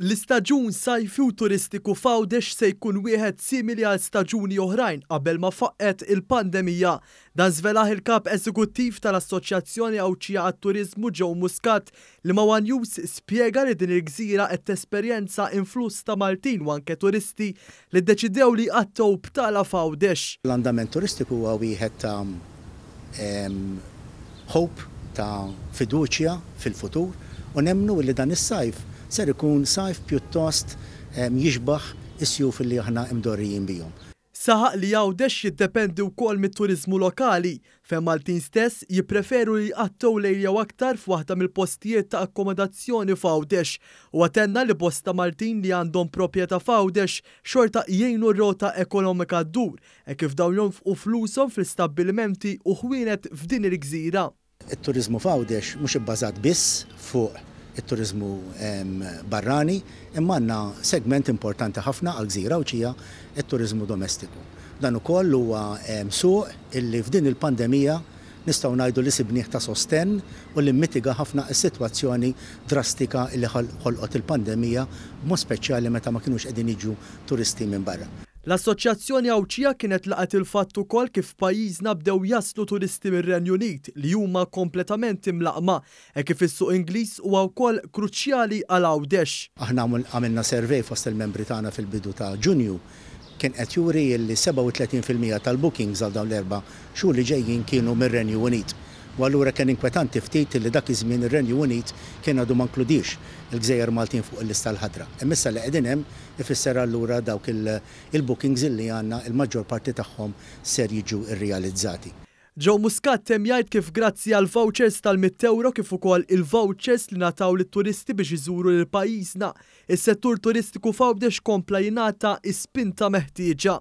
L-istaġun sajfi u turistiku f'Għawdex se jkun wieħed simili għal staġuni oħrajn qabel ma faqqgħet il-pandemija. Dan żvelah il-Kap Eżekuttiv tal-Assoċjazzjoni Għawdxija għat-Turiżmu Joe Muscat li ma' one News spjega li din il-gżira qed tesperjenza influss ta' Maltin u anke turisti li ddeċidew li jqattgħu btala f'Għawdex. L-andament turistiku huwa wieħed ta' hope, ta' fiduċja fil-futur u nemmnu li dan is-sajf ser ikun sajf pjuttost jixbah is-sjuf li aħna imdorrijin bihom. Saħaq li Għawdex jiddependi wkoll mit-turiżmu lokali, fejn Maltin stess jippreferu li jqattgħu lejl jew aktar f'waħda mill-postijiet ta' akkomodazzjoni f'Għawdex. Huwa tenna li bosta Maltin li għandhom proprjetà f'Għawdex xorta jgħinu r-rota ekonomika ddur, hekk kif dawn jonfqu flushom fl-istabbilimenti u ħwienet f'din il-gżira. It-turiżmu f'Għawdex mhux ibbażat biss fuq it-turiżmu barrani imma għandna segment importanti ħafna għall-gżira Għawdxija, it-turiżmu domestiku. Dan ukoll huwa suq illi f'din il-pandemija nistgħu ngħidu li sibnieh ta' sostenn u li mmitiga ħafna s-sitwazzjoni drastika li ħolqot il-pandemija b'mod speċjali meta ma kinux qegħdin jiġu turisti minn barra. L-Assoċjazzjoni Għawdxija kienet laqgħet il-fatt ukoll kif f'pajjiżna bdew jaslu turisti mir-Renju Unit li huma kompletament imlaqqma, hekk kif is-suq Ingliż huwa wkoll kruċjali għal Għawdex. Aħna għamilna survey fost il-membri tagħna fil-bidu ta' Ġunju kien qed juri li 37% tal-bookings għal dawn l-erba' xhur li ġejjin kienu mir-Renju Unit. U allura kien inkwetanti ftit li dak iż-żmien ir-Renju Unit kien għadu ma nkludiex il-gżejjer Maltin fuq il-lista l-ħadra. Imma issa li qegħdin hemm ifisser allura dawk il-bookings illi għandna il-maġġor parti tagħhom ser jiġu rrealizzati. Joe Muscat temm jgħid kif grazzi għall-vouchers tal-€100 kif ukoll il-vouchers li ngħataw lit-turisti biex iżuru lil pajjiżna, is-settur turistiku f'Għawdex kompla jingħata s-spinta meħtieġa.